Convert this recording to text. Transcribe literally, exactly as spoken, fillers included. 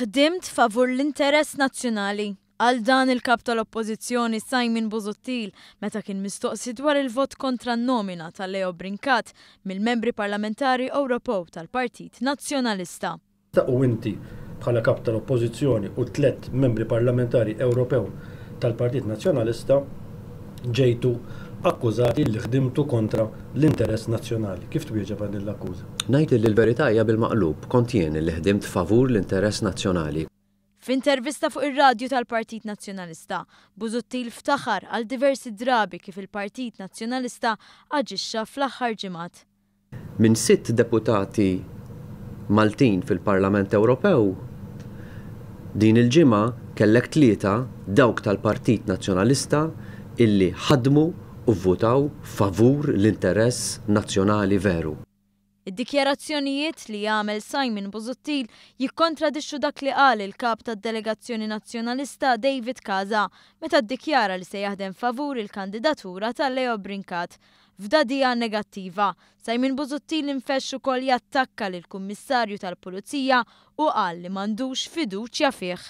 Ħdimt favur l-interess nazzjonali. Qal dan il-Kap tal-Oppożizzjoni Simon Busuttil meta kien mistoqsi dwar il-vot kontra n-nomina ta' Leo Brincat mill-membri parlamentari Ewropew tal-Partit Nazzjonalista. U inti bħala Kap tal-Oppożizzjoni u tliet membri parlamentari Ewropew tal-Partit Nazzjonalista ġejtu akkużati li ħdimtu kontra l-interess nazzjonali. Kif twieġeb għal din l-akkuża? Ngħid li l-verità hija bil-maqlub, kont jien li ħdimt favur l-interess nazzjonali. F'intervista fuq ir-radju tal-Partit Nazzjonalista, Busuttil ftaħar għal diversi drabi kif il-Partit Nazzjonalista aġixxa fl-aħħar ġimgħat. Minn sitt deputati Maltin fil-Parlament Ewropew, din il-ġimgħa kellek tlieta dawk tal-Partit Nazzjonalista illi ħadmu u vvutaw favur l-interess nazzjonali veru. Id-dikjarazzjonijiet li għamel Simon Busuttil jikkontradixxu dak li qal il-kap tad-delegazzjoni nazzjonalista David Casa meta ddikjara li se jaħdem favur il-kandidatura ta' Leo Brincat. F'dagħdigħa negattiva, Simon Busuttil infexx ukoll jattakka lill-Kummissarju tal-Pulizija u qal li m'għandux fiduċja fih.